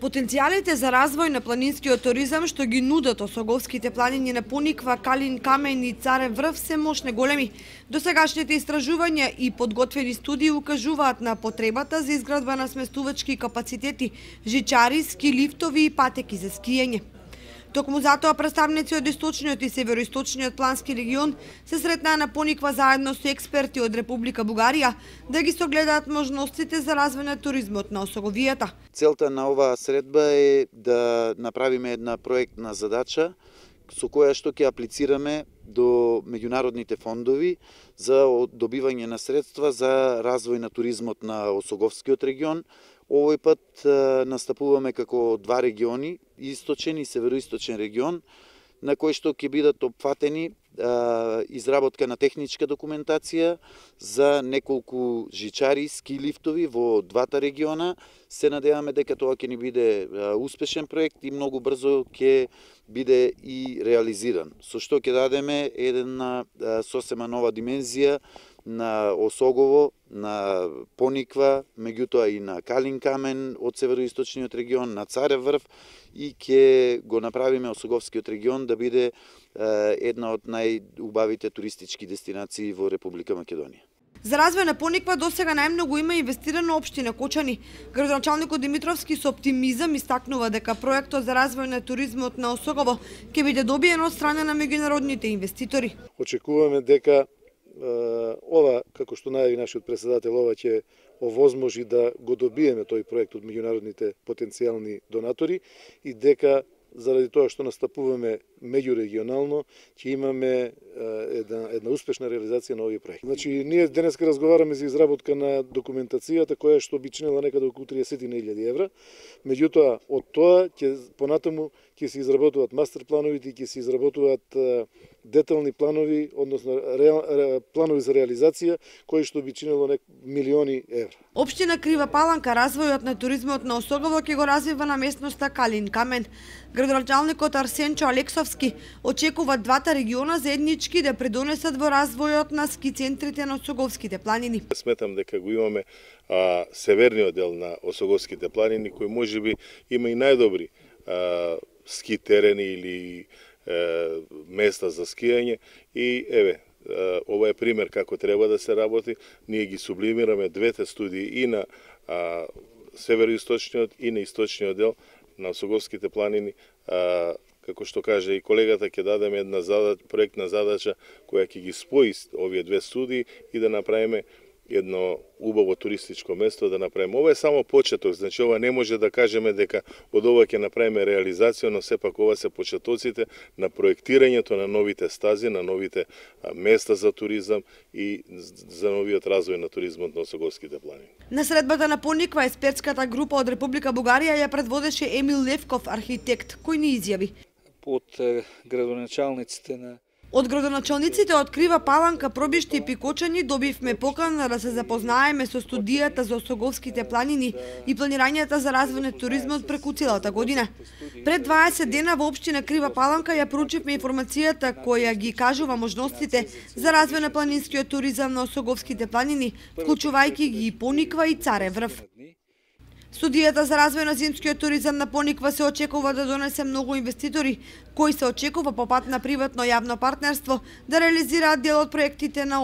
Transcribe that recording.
Потенцијалите за развој на планинскиот туризам што ги нудат Осоговските планини на Пониква, Калин камен и Царев врв се мощно големи. Досегашните истражувања и подготвени студии укажуваат на потребата за изградба на сместувачки капацитети, жичари, ски лифтови и патеки за скијање. Токму затоа представници од источниот и североисточниот плански регион се сретнаа на Пониква заедно со експерти од Република Бугарија да ги согледаат можностите за развој на туризмот на Осоговијата. Целта на оваа средба е да направиме една проектна задача со која што ќе аплицираме до меѓународните фондови за добивање на средства за развој на туризмот на Осоговскиот регион. Овој пат настапуваме како два региони, источен и североисточен регион, на кои што ќе бидат опфатени изработка на техничка документација за неколку жичари, ски лифтови во двата региона. Се надеваме дека тоа ќе ни биде успешен проект и многу брзо ќе биде и реализиран. Со што ќе дадеме една сосема нова димензија на Осогово, на Пониква, меѓутоа и на Калин камен од североисточниот регион, на Царев врв, и ќе го направиме Осоговскиот регион да биде една од најубавите туристички дестинации во Република Македонија. За развој на Пониква досега најмногу има инвестирано општина Кочани. Градоначалникот Димитровски со оптимизам истакнува дека проектот за развој на туризмот на Осогово ќе биде добиен од страна на меѓународните инвеститори. Очекуваме дека ова, како што најави нашиот председател, ова ќе овозможи да го добиеме тој проект од меѓународните потенцијални донатори и дека заради тоа што настапуваме меѓурегионално, ќе имаме една успешна реализација на овој проект. Значи, ние денеска разговараме за изработка на документацијата која што би чинела некаде околу 30.000 евра. Меѓутоа, од тоа понатаму ќе се изработуваат мастер плановите и ќе се изработуваат детални планови, односно планови за реализација кои што би чинело милиони евра. Општина Крива Паланка развојот на туризмот на Осогово ќе го развива на местноста Калин камен. Градоначалникот Арсенчо Алексовски очекува двата региона заеднички да придонесат во развојот на ски центрите на Осоговските планини. Сметам дека го имаме северниот дел на Осоговските планини кој можеби има и најдобри ски терени или места за скијање и ова е пример како треба да се работи. Ние ги сублимираме двете студии и на североисточниот и на источниот дел на Осоговските планини. Како што каже и колегата, ќе дадеме една проектна задача која ќе ги спои овие две студии и да направиме едно убаво туристичко место, да направиме. Ова е само почеток, значи ова не може да кажеме дека од ова ќе направиме реализација, но сепак ова се почетоците на проектирањето на новите стази, на новите места за туризам и за новиот развој на туризмот на Осоговските планини. На средбата на Пониква експертската група од Република Бугарија ја предводеше Емил Левков, архитект, кој ни изјави. Од градоначалниците на Од градоначалниците од Крива Паланка, Пробишти и Пикочани добивме покана да се запознаеме со студијата за Осоговските планини и планирањата за развој на туризмот преку целата година. Пред 20 дена во општина Крива Паланка ја проучивме информацијата која ги кажува можностите за развој на планинскиот туризам на Осоговските планини, вклучувајќи ги и Пониква и Царев врв. Студијата за развој на зимскиот туризам на Пониква се очекува да донесе многу инвеститори, кои се очекува по пат на приватно јавно партнерство да реализираат дел од проектите на